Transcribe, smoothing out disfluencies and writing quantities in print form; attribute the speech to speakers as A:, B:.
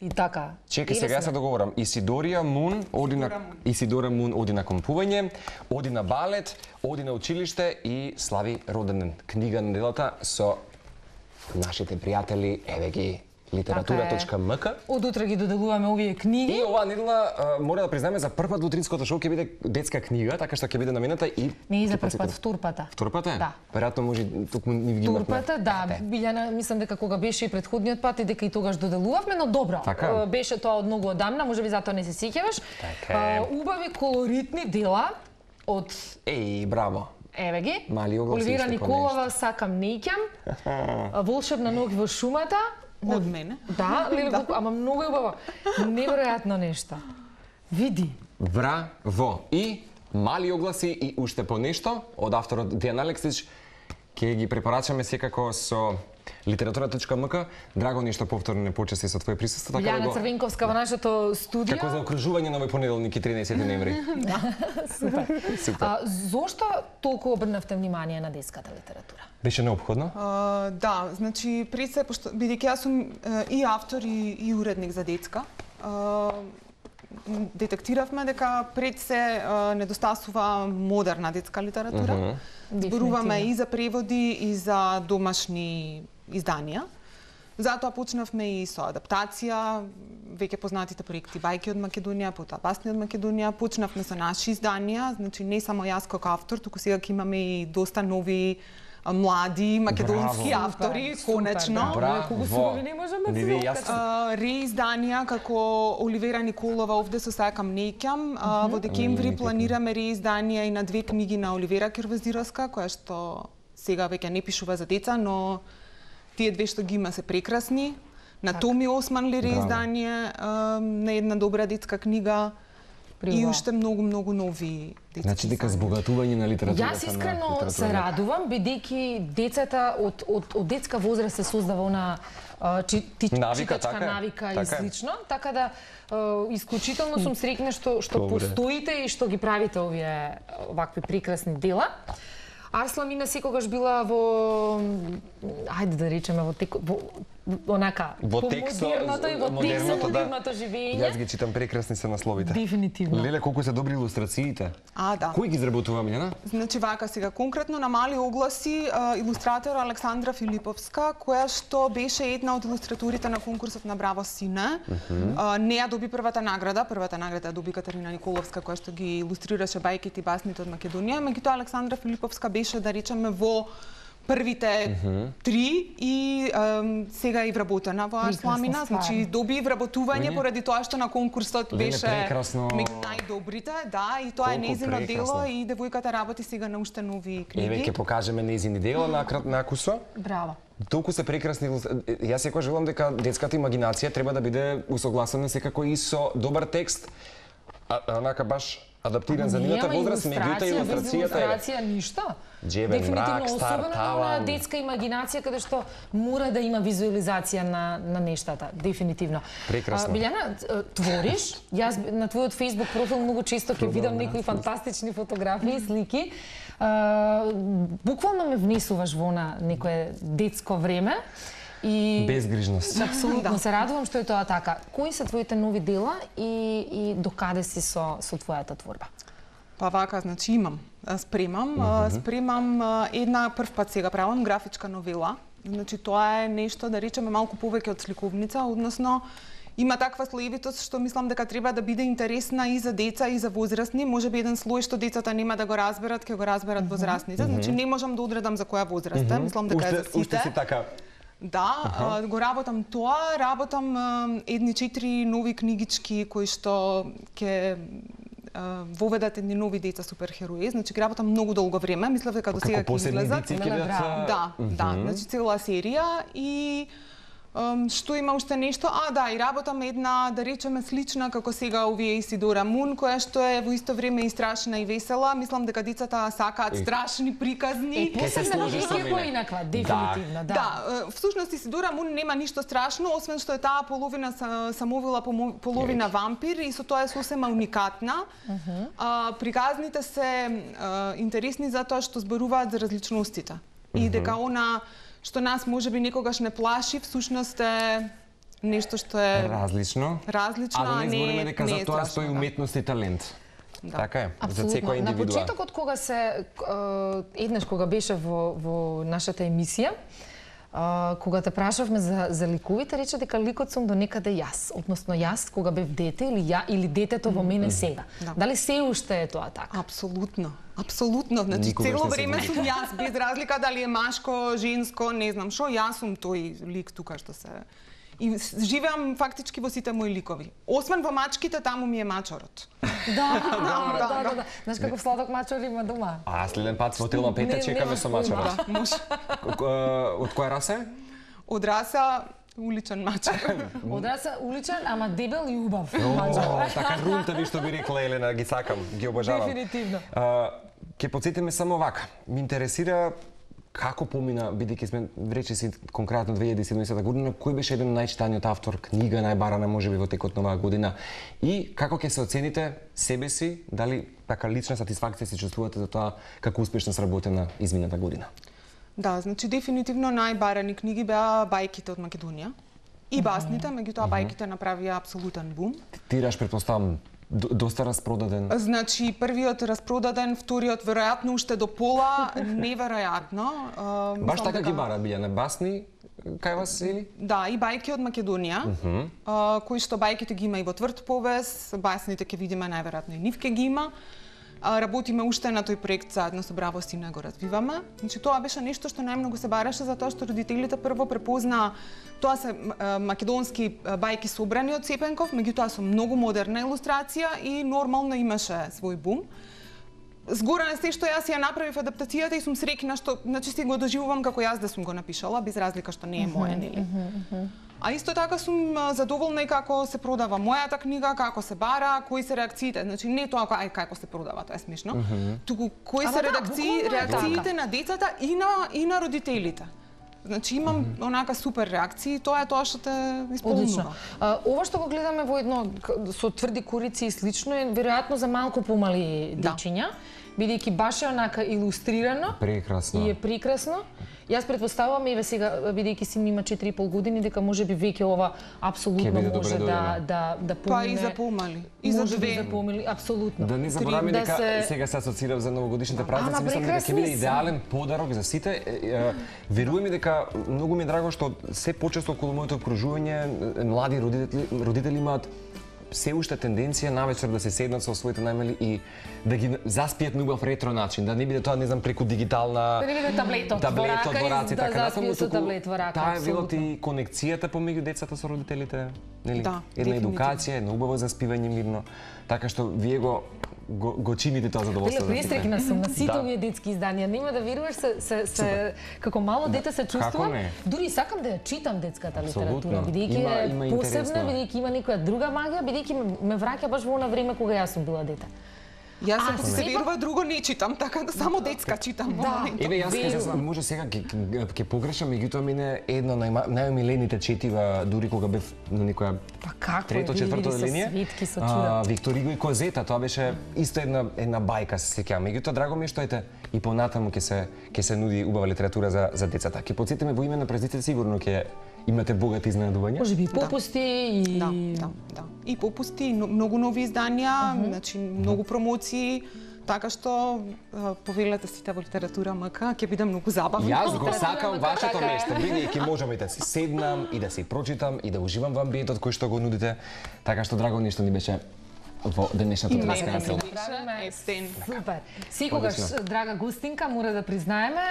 A: И така.
B: Чекај, сега јас се договорам. Исидора Мун оди на компување, оди на балет, оди на училиште и слави роденден. Книга на делата со нашите пријатели, еве ги, литература.мк.
A: Од утре ги доделуваме овие книги.
B: И оваа недела мора да признаеме за прв пат во утринското шоу ќе биде детска книга, така што ќе биде намената и
A: не за прв пат, вторпата.
B: Вторпата?
A: Да.
B: Веројатно може токму ни ги имавме.
A: Вторпата, да. Билјана, мислам дека кога беше и претходниот пат и дека и тогаш доделувавме, но добро.
B: Така?
A: Беше тоа од многу одамна, можеби затоа не се сеќаваш. Убави колоритни дела од
B: браво.
A: Еве ги.
B: Оливера
A: Николова, Сакам неќам. Волшебна ноќ во шумата.
C: Од мене?
A: Да, ама многу убаво. Неверојатно нешто. Види.
B: Браво. И мали огласи и уште по нешто од авторот Дејан Алексич ќе ги препорачаме секако со литература.мк. Драго нешто повторно не почести со твое присуство.
A: Билјана Црвенковска во нашето студио.
B: Како за окружување на овој понеделник и 13 ноември.
A: Да, супер. Зошто толку обрнавте внимание на детската литература?
B: Беше неопходно?
C: Да, значи пред се, бидејќи јас сум и автор и уредник за детска, детектиравме дека пред се недостасува модерна детска литература. Зборуваме и за преводи и за домашни изданија. Затоа почнавме и со адаптација, веќе познатите проекти Бајки од Македонија, потоа Басни од Македонија. Почнавме со наши изданија, значи не само јас како автор, туку сега ќе имаме и доста нови млади македонски автори, конечно.
B: Браво!
C: Реизданија како Оливера Николова овде со Сакам неќам. Во декември планираме реизданија и на две книги на Оливера Кирвазировска, која што сега веќе не пишува за деца, но тие две што ги има се прекрасни. На Томи Османли реиздание на една добра детска книга. И уште многу нови детски.
B: Значи дека збогатување на литературата.
A: Јас искрено се радувам, бидејќи децата од детска возраст се создава она читачка навика и слично, така да исклучително сум среќна што постоите и што ги правите овие вакви прекрасни дела. Арсламина секогаш била во, ајде да речеме, во модерното живење.
B: Јас ги читам, прекрасни се насловите.
A: Дефинитивно.
B: Леле, колку се добри илустрациите.
C: Да.
B: Кој ги изработува, Милена?
C: Значи вака сега, конкретно на мали огласи, илустратор Александра Филиповска, која што беше една од илустраторите на конкурсот на Браво Сине. Не ја доби првата награда ја доби Катерина Николовска, која што ги илустрираше Бајките и басните од Македонија. Меѓутоа Александра Филиповска беше, да речеме, во првите три и сега е вработена во Арсламина, значи доби вработување поради тоа што на конкурсот беше меѓу најдобрите, да, и тоа е нејзино дело и девојката работи сега на уште нови книги.
B: Еве ќе покажеме нејзини дела на кусо.
A: Браво.
B: Толку се прекрасни. Јас секогаш велам дека детската имагинација треба да биде усогласена секако и со добар текст, онака баш адаптиран за нивната возраст, меѓутоа
A: илустрација ништо.
B: Джебен, мрак, стар, таван.
A: Детска имагинација каде што мора да има визуализација на нештата, дефинитивно.
B: Прекрасно.
A: Билјана, твориш? Јас на твојот Facebook профил многу често ќе видам некои фантастични фотографии, слики. Буквално ме внесуваш во на некое детско време. И
B: безгрижност.
A: Апсолутно се радувам што е тоа така. Кои се твоите нови дела и докаде си со твојата творба?
C: Па вака, значи имам, спремам една прв пат сега правам графичка новела. Значи тоа е нешто, да речеме, малку повеќе од сликовница, односно има таква слоевитост што мислам дека треба да биде интересна и за деца и за возрастни. Можеби еден слој што децата нема да го разберат, ќе го разберат возрастните. Значи не можам да одредам за која возраст е, мислам дека е за сите.
B: Уште си така.
C: Да, го работам тоа, работам едни 4 нови книгички кои што ќе воведат едни нови деца суперхерои, значи ги работам многу долго време, мислев дека до сега ќе излезат. Да, значи цела серија и што има уште нешто? Да, и работам една, да речеме, слична како сега овие Исидора Мун, која што е во исто време и страшна и весела. Мислам дека децата сакаат страшни приказни.
A: Посебно поинаква, дефинитивно, да.
C: Да, всушност Исидора Мун нема ништо страшно, освен што е таа половина самовила, половина вампир и со тоа е сосема уникатна. Приказните се интересни затоа што зборуваат за различностите. И дека она што нас можеби некогаш не плаши, всушност е нешто што е
B: различно, а да не збориме дека за тоа стои уметност и талент. Така е, за секоја индивидуа.
A: На почетокот кога еднаш кога беше во нашата емисија, кога те прашавме за ликовите, рече дека ликот сум до некаде јас, односно јас кога бев дете или детето во мене сега. Дали се уште е тоа така?
C: Апсолутно. Апсолутно, значи цело време сум јас, без разлика дали е машко, женско, не знам што, јас сум тој лик тука што се... И живеам фактички во сите мои ликови. Освен во мачките, таму ми е мачорот.
A: Да. Знаеш како сладок мачор има дома?
B: А следен пат во Телма Пете чекаме со мачорот.
C: Да, може.
B: Од која раса е?
C: Од раса уличен мачор.
A: Од раса уличен, ама дебел и убав мачор.
B: Така рунтави што би рекла Елена, ги сакам, ги обожавам.
A: Дефинитивно.
B: Ке потсетиме само вака. Ме интересира како помина, бидејќи сме рече си конкретно 2017 година, кој беше еден најчитаниот автор, книга најбарана можеби во текот на оваа година и како ќе се оцените себе си, дали така лична сатисфакција се чувствувате за тоа како успешно сработена измината година?
C: Да, значи дефинитивно најбарани книги беа бајките од Македонија и басните, меѓутоа бајките направија апсолутен бум.
B: Тираж претпоставам доста распродаден.
C: Значи, првиот распродаден, вториот веројатно уште до пола, неверојатно.
B: Баш така ги бара биле на басни кај вас или?
C: Да, и бајки од Македонија, кои што бајките ги има и во тврд повес, басните ќе видиме најверојатно и нив ќе ги има. Работиме уште на тој проект заедно со Браво Сина, го развиваме. Значи тоа беше нешто што најмногу се бараше затоа што родителите прво препознаа тоа се македонски бајки собрани од Цепенков, меѓутоа со многу модерна илустрација и нормално имаше свој бум. Згора на се што јас ја направив адаптацијата и сум среќна што, значи си го доживувам како јас да сум го напишала, без разлика што не е моја, нели? А исто така сум задоволна и како се продава мојата книга, како се бара, кои се реакциите. Значи не тоа како се продава, тоа е смешно, туку кои се реакциите на децата и на родителите. Значи имам онака супер реакции, тоа е тоа што те исполнува.
A: Ова што го гледаме во едно со тврди корици и слично е веројатно за малку помали дечиња, бидејќи баш е онака илустрирано.
B: Прекрасно.
A: И е прекрасно. Јас претпоставувам еве сега бидејќи син има 4,5 години дека можеби веќе ова апсолутно може да помине.
C: Па и за помали. И за две.
A: Апсолутно.
B: Да не забораваме дека сега се асоцирав за новогодишните празници, мислам дека ќе биде идеален подарок за сите. Верувам и дека многу ми е драго што се почесто околу моето окружување млади родители имаат се уште тенденција навечер да се седнат со своите најмали и да ги заспијат на убав ретро начин, да не биде тоа, не знам, преку дигитална...
A: Да не биде таблетот во рака и да заспијат со таблет во рака.
B: Таа е велот и конекцијата помеѓу децата со родителите, нели? Една едукација, едно убаво заспивање мирно, така што вие го чините тоа задоволство.
A: Престрекна сум на сите овие детски изданија. Нема да веруваш се како мало дете се чувствувам. Дури сакам да ја читам детската литература, бидејќи е посебна, бидејќи има некоја друга магија, бидејќи ме враќа баш во она време кога јас сум била дете.
C: Јас ако се верува друго не читам, така да само детска читам во моментот.
B: Еве јас може сега ќе погрешам, меѓутоа мене едно најомилените четива дури кога бев на некоја трето, четврто линија. Виктор Иго и Козета, тоа беше исто една бајка, се сеќавам. Меѓутоа драго ми е што и понатаму ќе се нуди убава литература за децата. Ќе потсетиме во име на празниците сигурно ќе имате богати изненадувања.
A: Можеби и попусти и
C: Да. И попусти, многу нови изданија, значи многу промоции, така што повелете сите во литература МК, ќе биде многу забавно.
B: Јас го сакам вашето место, бидејќи можам и да си седнам и да си прочитам и да уживам во амбиентот кој што го нудите, така што драго нешто ни беше во денешната традиција.
A: Супер. Секогаш драга гостинка, мора да признаеме.